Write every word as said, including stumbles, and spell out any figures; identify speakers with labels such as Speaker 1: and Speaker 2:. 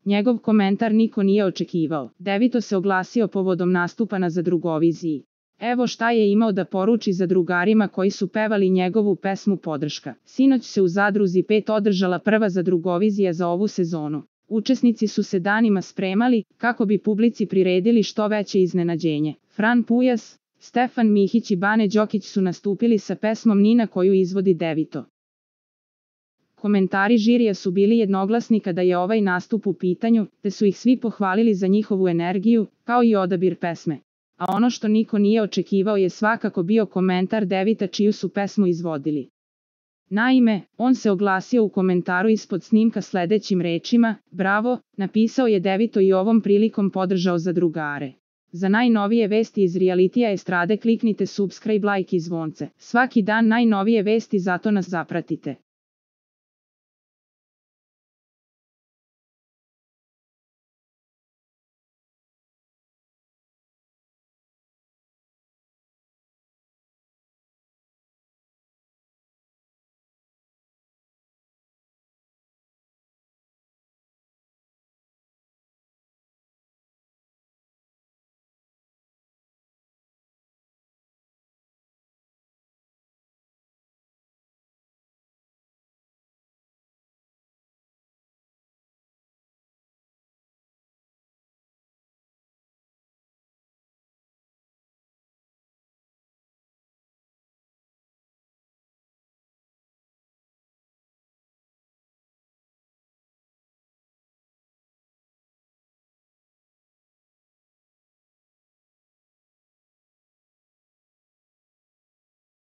Speaker 1: Njegov komentar niko nije očekivao. Devito se oglasio povodom nastupa na Zadrugoviziji. Evo šta je imao da poruči zadrugarima koji su pevali njegovu pesmu Podrška. Sinoć se u Zadruzi pet održala prva Zadrugovizija za ovu sezonu. Učesnici su se danima spremali kako bi publici priredili što veće iznenađenje. Fran Pujas, Stefan Mihić i Bane Đokić su nastupili sa pesmom Nina koju izvodi Devito. Komentari žirija su bili jednoglasni kada je ovaj nastup u pitanju, te su ih svi pohvalili za njihovu energiju, kao i odabir pesme. A ono što niko nije očekivao je svakako bio komentar Devita čiju su pesmu izvodili. Naime, on se oglasio u komentaru ispod snimka sledećim rečima: "Bravo", napisao je Devito i ovom prilikom podržao zadrugare. Za najnovije vesti iz realitija estrade kliknite subscribe, like i zvonce. Svaki dan najnovije vesti, zato nas zapratite.